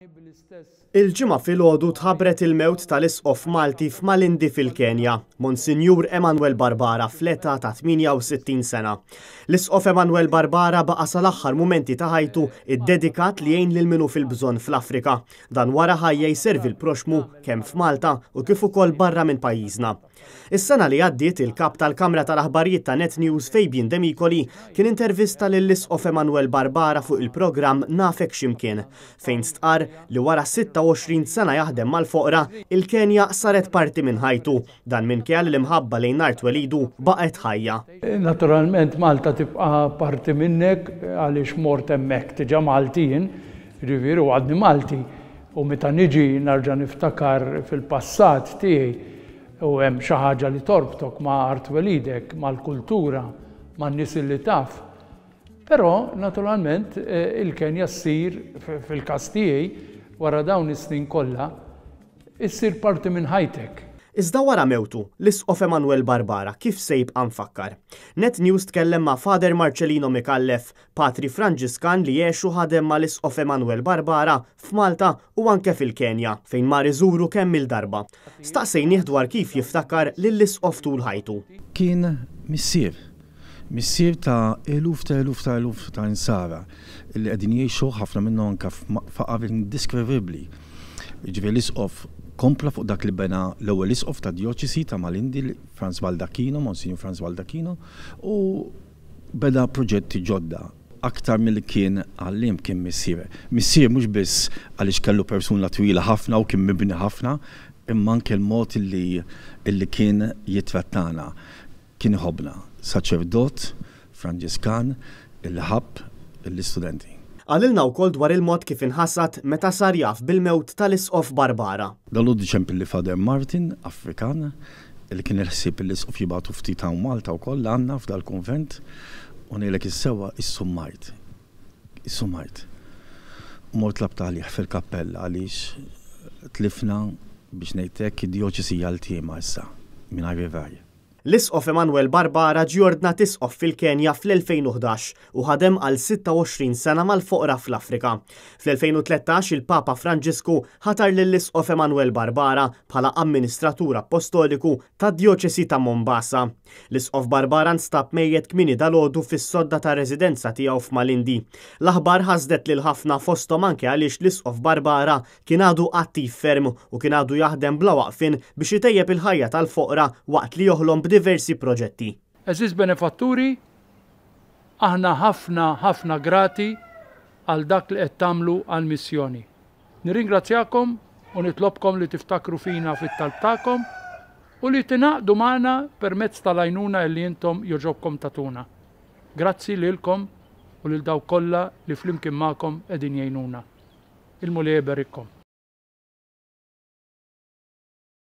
Il-Ġimgħa filgħodu tħabbret il-mewt tal-Isqof Malti f'Malindi fil-Kenja, Monsinjur Emanuel Barbara fl-età ta' 68 sena. L-Isqof Emanuel Barbara baqa' sal-aħħar mumenti ta' ħajtu iddedikat li jgħin lil min hu fil-bżonn fl-Afrika. Dan wara ħajja jservi l-proxxmu kemm f'Malta u kif ukoll barra minn pajjiżna. Is-sena li għaddiet, il-Kap tal-Kamra tal-Aħbarijiet ta' Net News Fabian Demicoli kien intervista lill-Isqof Emanuel Barbara fuq il-programm Nafek X'Imkien, fejn stqarr li wara 26 sena jaħdem mal-foqra, il-Kenja saret parti minn ħajtu. Dan minkejja li l-imħabba lejn art twelidu baqgħet ħajja. Naturalment Malta tibqa' parti minnek għaliex mort hemmhekk diġà Malti jien, jiġifieri u għadni Malti. U meta niġi narġa' niftakar fil-passat tiegħi u hemm xi ħaġa li torbtok ma' art twelidek, mal-kultura, man-nies li taf. Però, naturalment, il-Kenja ssir, fil-każ tiegħi, wara dawn is-snin kollha, issir parti minn ħajtek. Iżda wara mewtu, l-Isqof Emanuel Barbara kif se jibqa' mfakkar? Net News tkellem ma' Father Marcelino Micallef, Patri Franġiskan li għex u ħadem mal-Isqof Emanuel Barbara f'Malta u anke fil-Kenja, fejn mar iżuru kemm-il darba. Staqsejnih dwar kif jiftakar lill-Isqof tul ħajtu. Kien missier. Missier ta' eluf ta' eluf ta' eluf ta' insara li qegħdin jgħixu ħafna minnhom anke f'faqar indiskrivibbli. Jiġifieri l-Isqof kompla fuq dak li bena l-ewwel Isqof tad-Djoċesi ta' Malindi, Frans Baldacchino, Monsinjur Frans Baldacchino, u Beda proġetti ġodda. Aktar milli kien għalliem kien missier. Missier mhux biss għaliex kellu persuna twila ħafna u kien mibni ħafna, imma anke l-mod li li kien jittrattana. Kien iħobbna. Saċerdot Franġiskan illi ħabb lill-istudenti. Qalilna wkoll dwar il-mod kif inħasad meta sar jaf bil-mewt tal-Isqof Barbara. Dalgħodu ċempilli Father Martin, Afrikan, li kien il-ħsieb li l-Isqof jibgħatu ftit hawn Malta wkoll għandna f'dal-kunvent u ngħidlek is-sewwa issummajt. Issummajt. U mort tlabt għalih fil-kappella għaliex tlifna biex ngħid hekk id-djoċesi hija ltiema issa mingħajr ir-ragħaj. L-Isqof Emanuel Barbara ġie ordnat Isqof fil-Kenja fl-2011 u ħadem għal 26 sena mal-foqra fl-Afrika. Fl-2013 il-Papa Franġisku ħatar lill-Isqof Emanuel Barbara bħala Amministratur Appostoliku tad-Djoċesi ta' Mombasa. L-Isqof Barbara nstab mejjet kmieni dalgħodu fis-sodda tar-residenza tiegħu f'Malindi. L-aħbar ħasdet lil ħafna fosthom anke għaliex l-Isqof Barbara kien għadu attiv ferm u kien għadu jaħdem bla waqfien biex itejjeb il-ħajja tal-foqra waqt li joħlom b'diversi proġetti. Għeżież benefatturi, aħna ħafna ħafna grati għal dak li qed tagħmlu għall-missjoni. Nirringrazzjakom u nitlobkom li tiftakru fina fit-talb tagħkom u li tingħaqdu magħna permezz tal-għajnuna illi intom jogħġobkom tagħtuna. Grazzi lilkom u lil dawk kollha li flimkien magħkom qegħdin jgħinuna. Il-Mulej iberikkom.